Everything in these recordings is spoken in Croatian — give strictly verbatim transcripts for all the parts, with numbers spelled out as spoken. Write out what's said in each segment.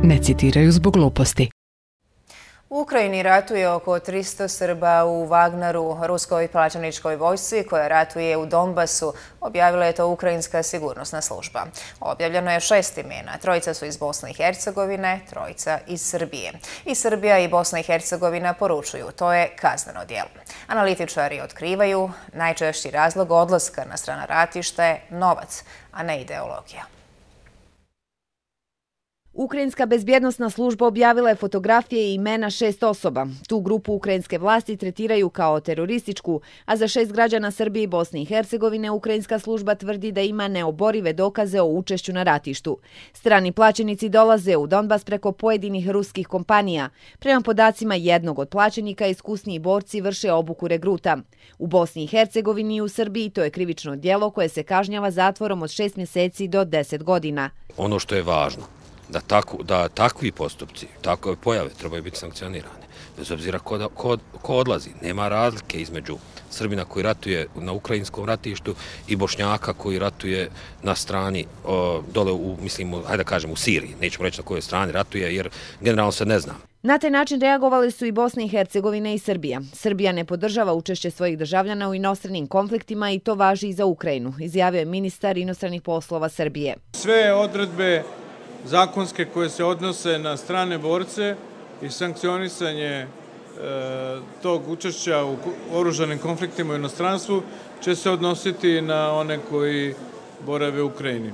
ne citiraju zbog gluposti. U Ukrajini ratuje oko tristo Srba u Wagneru, ruskoj plaćeničkoj vojsci koja ratuje u Donbasu, objavila je to Ukrajinska sigurnosna služba. Objavljeno je šest imena, trojica su iz Bosne i Hercegovine, trojica iz Srbije. I Srbija i Bosna i Hercegovina poručuju, to je kazneno djelo. Analitičari otkrivaju, najčešći razlog odlaska na strana ratišta je novac, a ne ideologija. Ukrajinska bezbjednosna služba objavila je fotografije i imena šest osoba. Tu grupu ukrajinske vlasti tretiraju kao terorističku, a za šest građana Srbije i Bosne i Hercegovine ukrajinska služba tvrdi da ima neoborive dokaze o učešću na ratištu. Strani plaćenici dolaze u Donbas preko pojedinih ruskih kompanija. Prema podacima jednog od plaćenika, iskusniji borci vrše obuku regruta. U Bosni i Hercegovini i u Srbiji to je krivično djelo koje se kažnjava zatvorom od šest mjeseci do deset godina. Ono što je važno, da, tako, da takvi postupci, takve pojave trebaju biti sankcionirane. Bez obzira ko, ko, ko odlazi, nema razlike između Srbina koji ratuje na ukrajinskom ratištu i Bošnjaka koji ratuje na strani o, dole u, mislim, hajde da kažem, u Siriji. Nećemo reći na kojoj strani ratuje jer generalno se ne zna. Na taj način reagovali su i Bosna i Hercegovina i Srbija. Srbija ne podržava učešće svojih državljana u inostranim konfliktima i to važi i za Ukrajinu, izjavio je ministar inostranih poslova Srbije. Sve odredbe zakonske koje se odnose na strane borce i sankcionisanje e, tog učešća u oružanim konfliktima u inostranstvu će se odnositi na one koji borave u Ukrajini. E,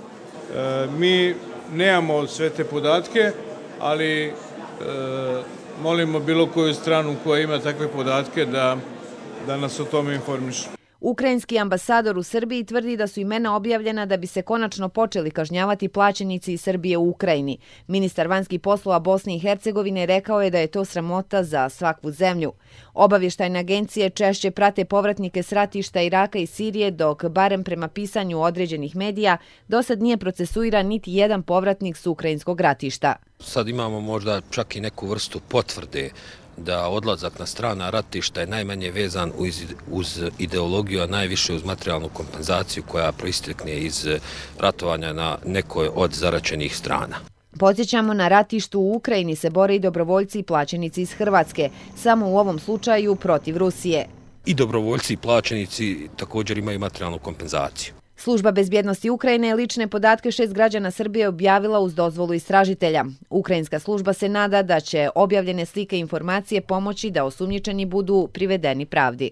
mi nemamo sve te podatke, ali e, molimo bilo koju stranu koja ima takve podatke da, da nas o tome informiše. Ukrajinski ambasador u Srbiji tvrdi da su imena objavljena da bi se konačno počeli kažnjavati plaćenici iz Srbije u Ukrajini. Ministar vanjskih poslova Bosne i Hercegovine rekao je da je to sramota za svaku zemlju. Obavještajne agencije češće prate povratnike s ratišta Iraka i Sirije, dok, barem prema pisanju određenih medija, dosad nije procesuiran niti jedan povratnik s ukrajinskog ratišta. Sad imamo možda čak i neku vrstu potvrde da odlazak na strana ratišta je najmanje vezan uz, uz ideologiju, a najviše uz materijalnu kompenzaciju koja proistekne iz ratovanja na nekoj od zaraćenih strana. Podsjećamo, na ratištu u Ukrajini se bore i dobrovoljci i plaćenici iz Hrvatske, samo u ovom slučaju protiv Rusije. I dobrovoljci i plaćenici također imaju materijalnu kompenzaciju. Služba bezbjednosti Ukrajine je lične podatke šest građana Srbije objavila uz dozvolu istražitelja. Ukrajinska služba se nada da će objavljene slike i informacije pomoći da osumnjičeni budu privedeni pravdi.